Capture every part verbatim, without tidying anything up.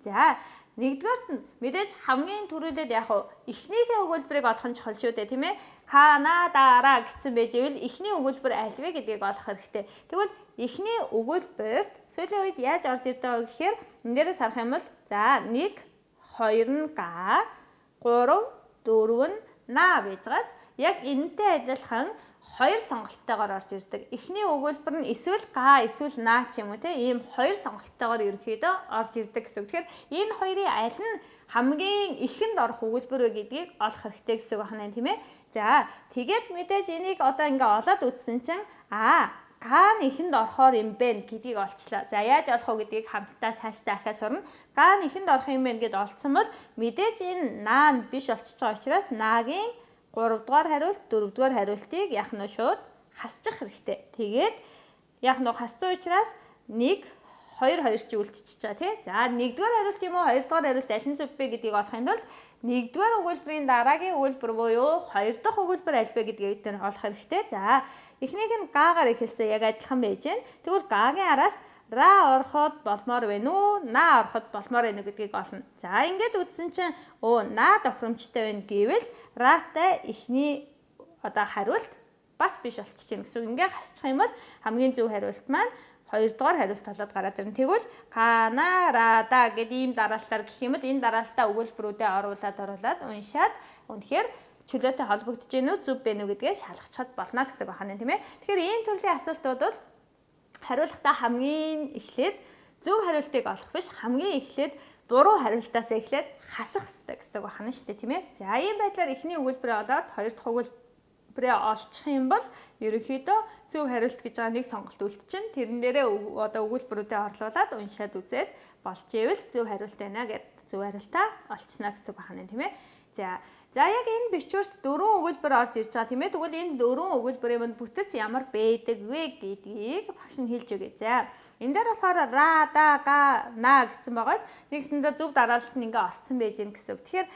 За нэгдүгээрт нь мэдээж хамгийн түрүүлээд яг эхнийхээ өгүүлбэрийг олох нь чухал шүү дээ, тийм ээ. Канадаараа гэсэн байж ивэл эхний өгүүлбэр аль вэ гэдгийг олох хэрэгтэй. Тэгвэл эхний өгүүлбэрт сүүлийн үед яаж орж ирдэг вэ гэхээр энэ дээрээс харах юм бол за нэг, хоёр нь га, гурав, дөрөв нь на байж байгааз яг энэтэй адилхан хоёр сонголттойгоор орж ирдэг. Эхний өгүүлбэр нь эсвэл га эсвэл на ч юм уу те ийм хоёр сонголттойгоор ерөөхдөө орж ирдэг гэсэн үг. Тэгэхээр энэ хоёрын аль нь хамгийн ихэнд орох өгүүлбэр вэ гэдгийг олох хэрэгтэй гэсэн үг байна тийм ээ. За тэгээд мэдээж энийг одоо ингээ олоод үзсэн чинь аа га нь ихэнд орохоор юм бэ гэдгийг олчлаа. За яаж олох вэ гэдгийг хамтдаа цаашдаа ахаа сурна. Га нь ихэнд орох юм бэ гэд олцсон бол мэдээж энэ на нь биш болчихж байгаа учраас нагийн гуравдугаар хариулт, дөрөвдүгээр хариултыг яах нь шууд хасчих хэрэгтэй. Тэгээд яах нь хассан учраас нэг, хоёр, хоёр ч үлдчихэж байгаа тий. За нэгдүгээр хариулт юм уу, хоёрдугаар хариулт аль нь зөв бэ гэдгийг олохын тулд нэгдүгээр өгүүлбэрийн дараагийн өгүүлбэр буюу хоёр дахь өгүүлбэр аль вэ гэдгийг бид олох хэрэгтэй. За эхнийх нь гагаар эхэлсэн яг адилхан байж гэн. Тэгвэл гагийн араас ра ороход болмоор байна уу, на ороход болмоор байна уу гэдгийг олно. За ингээд үзсэн чинь өө на тохиромжтой байна гэвэл ратай эхний одоо хариулт бас биш болчих чинь гэсэн. Ингээд хасчих юм бол хамгийн зөв хариулт маань хоёрдугаар хариулт болоод гараад ирнэ. Тэгвэл Канарада гэдэг ийм дараалтаар гэх юм бол энэ дараалтаа өгүүлбэрүүдэд оруулаад оруулаад уншаад үнэхээр чөлөөтэй холбогдож гэнэ үү, зөв бэ нү гэдгээ шалгахчаад болно гэсэн байна тийм ээ. Тэгэхээр ийм төрлийн асуултууд бол хариулахдаа хамгийн эхлээд зөв хариултыг олох биш, хамгийн эхлээд буруу хариултаас эхлээд хасах хэрэгтэй гэсэн үг байна шүү дээ тийм ээ. За ийм байдлаар эхний өгүүлбэрээ олоод хоёр дахь өгүүлбэрээ олчих юм бол ерөнхийдөө зөв хариулт гэж байгаа нэг сонголт үлдчихэв. Тэрэн дээрээ одоо өгүүлбэрүүдэд орлуулад уншаад үзээд болж ивэл зөв хариулт байна гэд зөв хариултаа олчихно гэсэн үг байна тийм ээ. За За яг энэ бичвэрт дөрвөн өгүүлбэр орж ирж байгаа тийм ээ. Тэгвэл энэ дөрвөн өгүүлбэрийн манд бүтэц ямар байдаг вэ гэдгийг багш нь хэлж өгье. За энэ дээр болохоор ра, да, га, на гэсэн байгааз нэгсэндээ зөв дараалалт нь ингээ орцсон байж гэн гэсэн үг. Тэгэхээр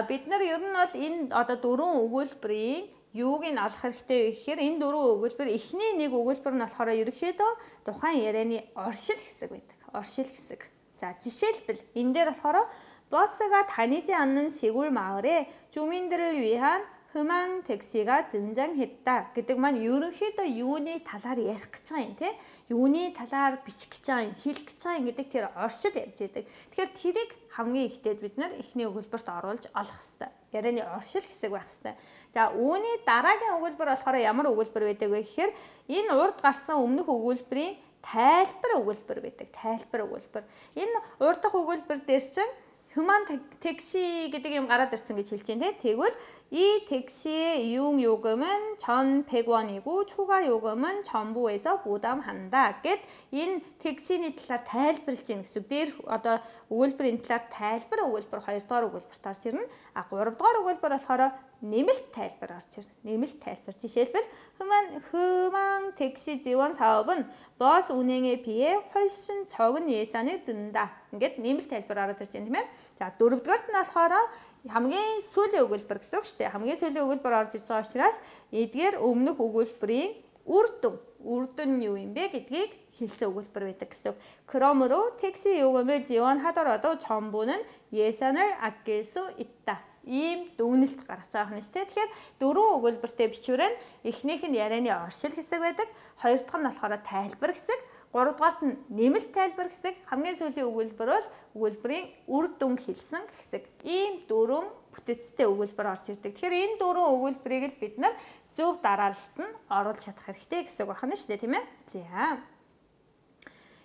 бид нар ер нь бол энэ одоо дөрвөн өгүүлбэрийн юуг нь олох хэрэгтэй вэ гэхээр энэ дөрвөн өгүүлбэр эхний нэг өгүүлбэр нь болохоор ерөнхийдөө тухайн ярианы оршил хэсэг байдаг. Оршил хэсэг. За жишээлбэл энэ дээр болохоор 버스가 다니지 않는 시골 마을에 주민들을 위한 흠한 택시가 등장했다 гэдэг маань ерөнхийдөө юуны талаар ярих гэж байгаа юм те. Юуны талаар бичих гэж байгаа юм, хэлэх гэж байгаа юм гэдэг тэр оршил явж байдаг. Тэгэхээр тэрийг хамгийн ихтэй бид нар эхний өгүүлбэрт оруулж олох хэрэгтэй. Ярианы оршил хэсэг байх хэрэгтэй. За үүний дараагийн өгүүлбэр болохоор ямар өгүүлбэр байдаг вэ гэхээр энэ урд гарсан өмнөх өгүүлбэрийн тайлбар өгүүлбэр байдаг. Тайлбар өгүүлбэр. Энэ урд дахь өгүүлбэр дээр чинь Human 택시 гэдэг юм гараад ирсэн гэж хэлж байна те. Тэгвэл 이 택시의 이용 요금은 전 백 원이고 추가 요금은 정부에서 부담한다 гэд энэ 택시ний талаар тайлбарлаж байна гэсэн. Дээр одоо өгүүлбэрийн талаар тайлбар өгүүлбэр хоёр дахь өгүүлбэрт орж ирнэ. А гурав дахь өгүүлбэр болохоор нэмэлт тайлбар орж ирнэ. Нэмэлт тайлбар. Жишээлбэл Human Human 택시 지원 사업은 버스 운행에 비해 훨씬 적은 예산이 든다. Ингээд нэмэлт тайлбар ороод ирж байна тийм ээ. За дөрөвдүгээрт нь болохоор хамгийн сүүлийн өгүүлбэр гэсэн үг шүү дээ. Хамгийн сүүлийн өгүүлбэр орж иж байгаа учраас эдгээр өмнөх өгүүлбэрийн үр дүн, үр дүн нь юу юм бэ гэдгийг хэлсэн өгүүлбэр байдаг гэсэн. 그러므로 택시 요금을 지원하더라도 정부는 예산을 아낄 수 있다. Ийм дүгнэлт гаргаж байгаа юм шүү дээ. Тэгэхээр дөрвөн өгүүлбэртэй бичвэрэн эхнийх нь ярианы оршил хэсэг байдаг, хоёр дахь нь болохоор тайлбар хэсэг, гурав дахьт нь нэмэлт тайлбар хэсэг, хамгийн сүүлийн өгүүлбэр бол өгүүлбэрийн үр дүн хэлсэн хэсэг. Ийм дөрвөн бүтэцтэй өгүүлбэр орж ирдэг. Тэгэхээр энэ дөрвөн өгүүлбэрийг л бид нар зөв дараалалт нь оруулж чадах хэрэгтэй гэсэн үг байна шүү дээ, тийм ээ. За.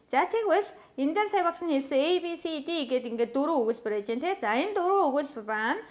За тэгвэл энэ дээр сая багш нь хэлсэн A B C D гэдэг ингээд дөрвөн өгүүлбэр байж байна те. За энэ дөрвөн өгүүлбэр маань